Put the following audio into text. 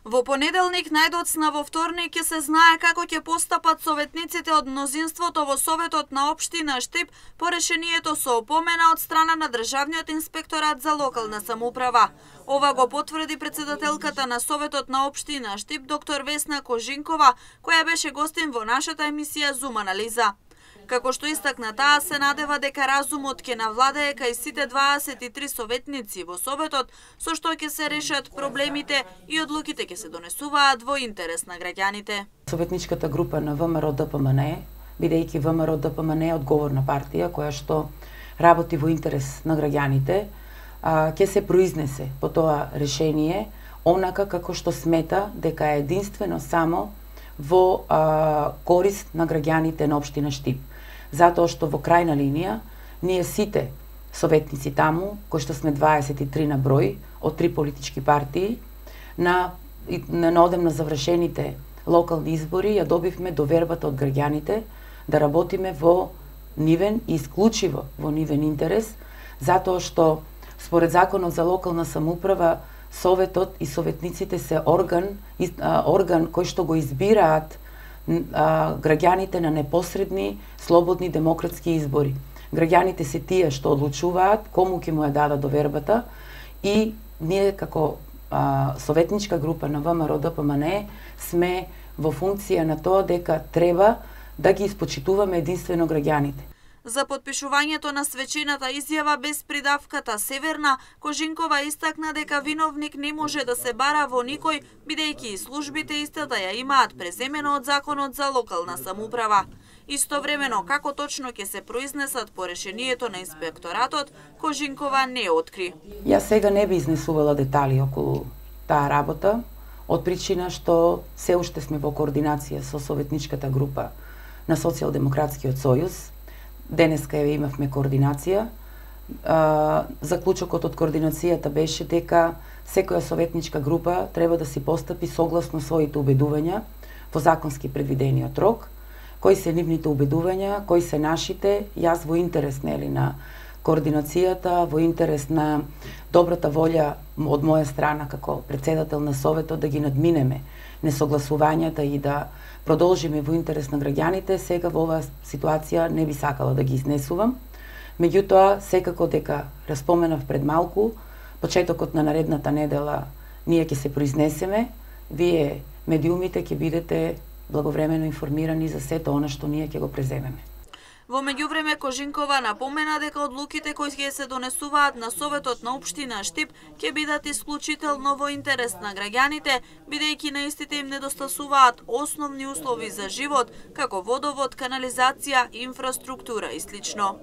Во понеделник најдоцна во вторник ќе се знае како ќе постапат советниците од мнозинството во Советот на општина Штип по решението со опомена од страна на Државниот инспекторат за локална самоуправа. Ова го потврди председателката на Советот на општина Штип доктор Весна Кожинкова, која беше гостин во нашата емисија Зум анализа. Како што истакна таа, се надева дека разумот ќе навладее кај сите 23 советници во Советот, со што ќе се решат проблемите и одлуките ќе се донесуваат во интерес на граѓаните. Советничката група на ВМРО-ДПМНЕ, бидејќи ВМРО-ДПМНЕ е одговорна партија која што работи во интерес на граѓаните, ќе се произнесе по тоа решение онака како што смета дека е единствено само во корист на граѓаните на општина Штип. Затоа што во крајна линија, ние сите советници таму, кои што сме 23 на број, од 3 политички партии, на одем на завршените локални избори, ја добивме довербата од граѓаните да работиме во нивен и исклучиво во нивен интерес, затоа што според Законот за локална самоуправа, Советот и советниците се орган кој што го избираат граѓаните на непосредни, слободни демократски избори. Граѓаните се тие што одлучуваат кому ќе му ја дадат довербата и ние како советничка група на ВМРО-ДПМНЕ сме во функција на тоа дека треба да ги испочитуваме единствено граѓаните. За подпишувањето на свечената изјава без придавката Северна, Кожинкова истакна дека виновник не може да се бара во никој, бидејќи и службите истата ја имаат преземено од Законот за локална самоуправа. Истовремено, како точно ќе се произнесат по решението на инспекторатот, Кожинкова не откри. Јас сега не би изнесувала детали околу таа работа, од причина што се уште сме во координација со советничката група на Социјалдемократскиот сојуз. Денеска имавме координација. Заклучокот од координацијата беше дека секоја советничка група треба да си постапи согласно своите убедувања во законски предвидениот рок, кои се нивните убедувања, кои се нашите, јас во интерес на координацијата, во интерес на добрата волја од моја страна како председател на Советот да ги надминеме несогласувањата и да продолжиме во интерес на граѓаните, сега во оваа ситуација не би сакала да ги изнесувам. Меѓутоа, секако дека распоменав пред малку, почетокот на наредната недела ние ќе се произнесеме, вие медиумите ќе бидете благовремено информирани за сето она што ние ќе го преземеме. Во меѓувреме Кожинкова напомена дека одлуките кои ќе се донесуваат на Советот на општина Штип ќе бидат исклучително во интерес на граѓаните, бидејќи на истите им недостасуваат основни услови за живот, како водовод, канализација, инфраструктура и слично.